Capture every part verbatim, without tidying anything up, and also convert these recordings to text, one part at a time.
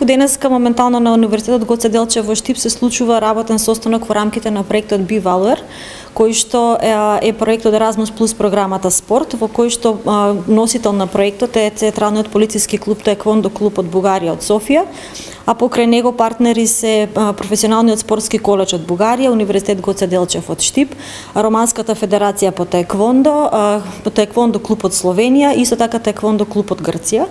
Денеска моментално на Универзитетот Гоце Делчев во Штип се случува работен состанок во рамките на проектот BeValor, кој што е, е проектот Erasmus Plus програмата Спорт, во кој што а, носител на проектот е Централниот полициски клуб Таеквондо клуб од Бугарија од Софија, а покрај него партнери се а, Професионалниот спортски колеж од Бугарија, Универзитет Гоце Делчев од Штип, Романската федерација по таеквондо, а, по таеквондо клуб од Словенија и исто така таеквондо клуб од Грција.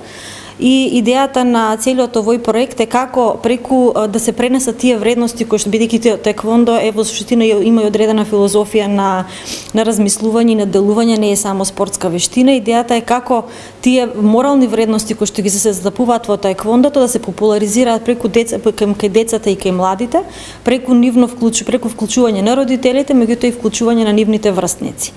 И идејата на целиот овој проект е како преку да се пренесат тие вредности кои што бидејќи таеквондо е во суштина има и одредена филозофија на на размислување и на делување, не е само спортска вештина. Идејата е како тие морални вредности кои што ги се застапуваат во таеквондото да се популаризираат преку деца, кај кај децата и кај младите, преку нивно вклучу, преку вклучување на родителите, меѓутоа и вклучување на нивните врсници.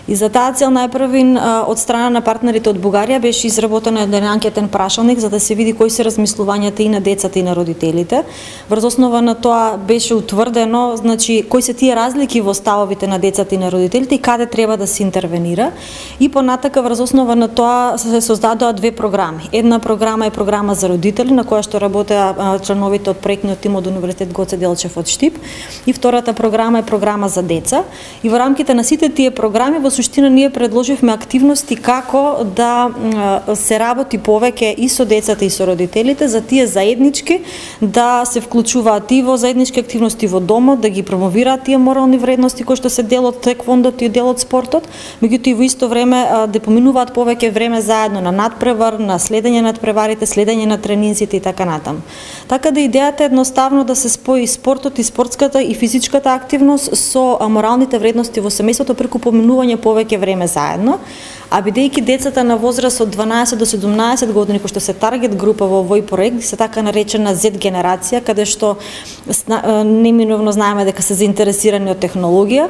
И за таа цел најпрвин од страна на партнерите од Бугарија беше изработен еден анкетен прашалник за да се види кои се размислувањата и на децата и на родителите. Врз основа на тоа беше утврдено, значи кои се тие разлики во ставовите на децата и на родителите и каде треба да се интервенира. И понатака врз основа на тоа се создадоа две програми. Една програма е програма за родители на која што работеа членовите од проектниот тим од Универзитет Гоце Делчев од Штип, и втората програма е програма за деца. И во рамките на сите тие програми во суштина ние предложивме активности како да се работи повеќе и со децата и со родителите за тие заеднички да се вклучуваат и во заеднички активности во домот, да ги промовираат тие морални вредности кои што се дел од таеквондото и дел од спортот, меѓутоа и во исто време да поминуваат повеќе време заедно на надпревар, на следење на надпреварите, следење на тренинзите и така натаму. Така да идејата е едноставно да се спои спортот и спортската и физичката активност со моралните вредности во семејството преку поминување повеќе време заедно, а бидејќи децата на возраст од дванаесет до седумнаесет години кои што се таргет група во овој проект, се така наречена Z генерација, каде што неминовно знаеме дека се заинтересирани од технологија,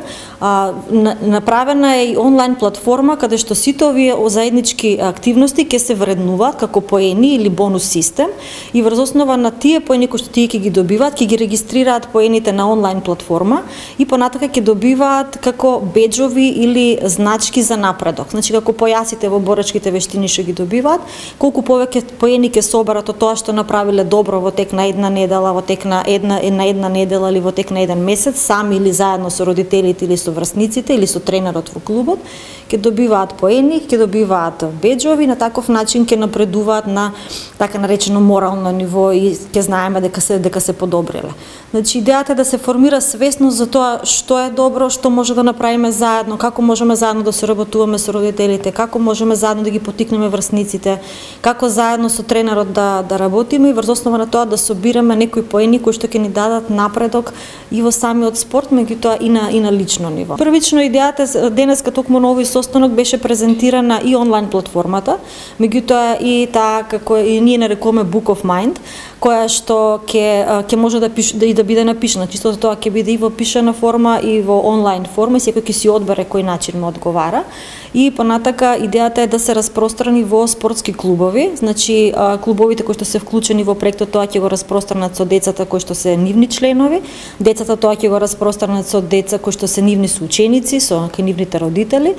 направена е и онлайн платформа каде што сите овие заеднички активности ќе се вреднуваат како поени или бонус систем, и врз основа на тие поени кои што тие ќе ги добиваат, ќе ги регистрираат поените на онлайн платформа и понатака ќе добиваат како беџови или значки за напредок. Значи како појасите во борачките вештини што ги добиваат, колку повеќе поени ќе соберат од тоа што направиле добро во тек на една недела, во тек на една на една недела или во тек на еден месец, сами или заедно со родителите или со врсниците или со тренерот во клубот, ќе добиваат поени, ќе добиваат беџови, на таков начин ќе напредуваат на така наречено морално ниво и ќе знаеме дека се дека се подобриле. Значи идејата е да се формира свесност за тоа што е добро, што може да направиме заедно, како можеме заедно да соработуваме со родителите, како можеме заедно да ги поттикнеме врсниците, како заедно со тренерот да да работиме и врз основа на тоа да собираме некои поени кои што ќе ни дадат напредок и во самиот спорт, меѓутоа и на и на лично ниво. Првично идејата денеска токму на овој состанок беше презентирана и онлайн платформата, меѓутоа и таа како и ние нарекуваме Book of Mind, која што ќе ќе може да пише да и да биде напишана, чисто тоа ќе биде и во пишана форма и во онлайн форма, секој ќе си одбере кој начин му одговара. И понатака идејата е да се распространи во спортски клубови, значи клубовите кои што се вклучени во проектот тоа ќе го распространат со децата кои што се нивни членови, децата тоа ќе го распространат со деца кои што се нивни соученици, со нивните родители.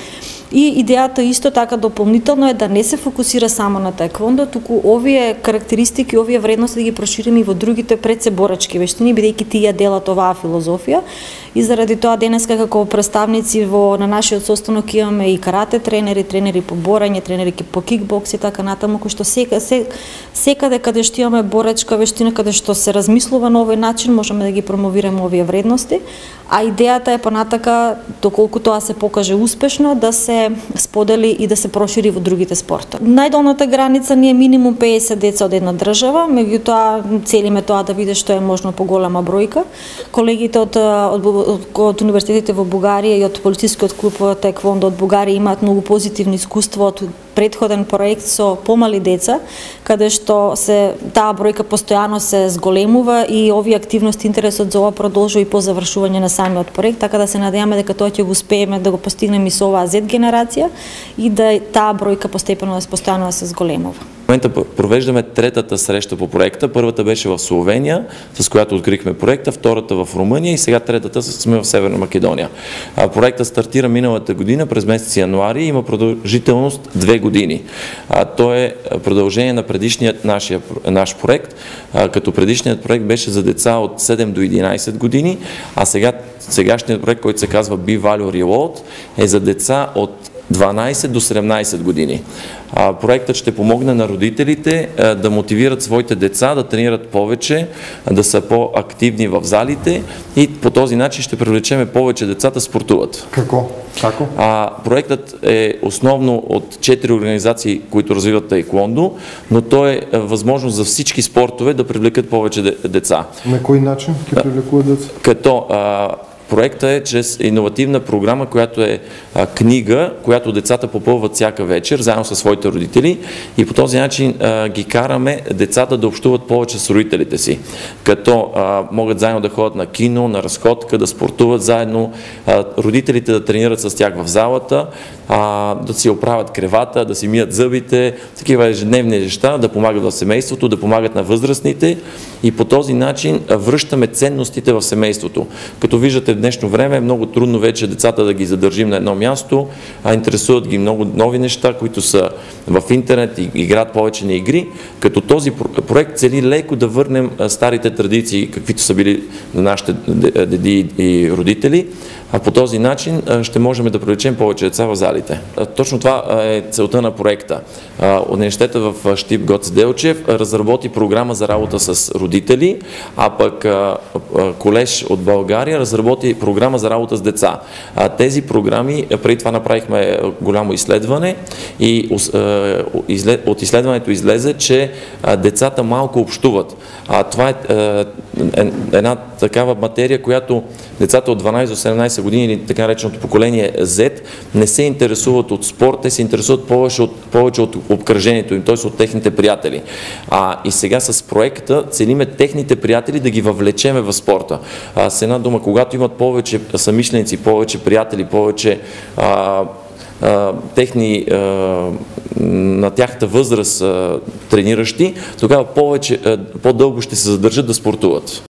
И идејата исто така дополнително е да не се фокусира само на таеквондо, туку овие карактеристики, овие вредности да ги прошириме и во другите предсеборачки вештини, бидејќи тие делат оваа филозофија. И заради тоа денеска како представници во на нашиот состанок имаме и карате тренери, тренери по борање, тренери по кикбокс и така натаму, кои што сека, се, секаде каде што имаме борачка вештина, каде што се размислува на овој начин, можеме да ги промовираме овие вредности, а идејата е понатака, доколку тоа се покаже успешно, да се сподели и да се прошири во другите спортови. Најдолната граница ни е минимум пеесет деца од една држава, меѓутоа целиме тоа да биде што е можно поголема бројка. Колегите од, од, од, од универзитетите во Бугарија и од полицискиот клуб таеквондо од Бугарија имаат многу позитивни искуства од претходен проект со помали деца, каде што се таа бројка постојано се зголемува и овие активности интересот за ова продолжува и по завршување на самиот проект, така да се надеваме дека тоа ќе го успееме да го постигнеме и со оваа Z генерација и да таа бројка постепено да постојано да се зголемува. В момента провеждаме третата среща по проекта. Първата беше в Словения, с която открихме проекта, втората в Румъния и сега третата сме в Северна Македония. Проектът стартира миналата година през месец януари и има продължителност две години. Той е продължение на предишният нашия, наш проект, като предишният проект беше за деца от седем до единайсет години, а сега сегашният проект, който се казва B-Value Reload, е за деца от дванайсет до седемнайсет години. А, проектът ще помогне на родителите а, да мотивират своите деца да тренират повече, а, да са по-активни в залите и по този начин ще привлечеме повече деца да спортуват. Како? Како? А, проектът е основно от четири организации, които развиват таеквондо, но то е възможност за всички спортове да привлекат повече деца. На кой начин ќе привлекуват деца? Като а, проектът е чрез иновативна програма, която е а, книга, която децата попълват всяка вечер, заедно със своите родители и по този начин а, ги караме децата да общуват повече с родителите си, като а, могат заедно да ходят на кино, на разходка, да спортуват заедно, а, родителите да тренират с тях в залата, а, да си оправят кревата, да си мият зъбите, такива ежедневни неща, да помагат в семейството, да помагат на възрастните и по този начин а, връщаме ценностите в семейството. Като виждате, в днешно време е много трудно вече децата да ги задържим на едно място, а интересуват ги много нови неща, които са в интернет и играят повече на игри, като този проект цели леко да върнем старите традиции, каквито са били на нашите деди и родители, а по този начин ще можем да привлечем повече деца в залите. Точно това е целта на проекта. Университета в Щип Гоце Делчев разработи програма за работа с родители, а пък колеж от България разработи програма за работа с деца. Тези програми, преди това направихме голямо изследване и от изследването излезе, че децата малко общуват. Това е една такава материя, която децата от дванайсет до седемнайсет години или така нареченото поколение Z не се интересуват от спорт, те се интересуват повече от, повече от обкръжението им, т.е. от техните приятели. А, и сега с проекта целиме техните приятели да ги въвлечеме в спорта. А, с една дума, когато имат повече съмишленици, повече приятели, повече а, а, техни а, на тяхната възраст а, трениращи, тогава повече, по-дълго ще се задържат да спортуват.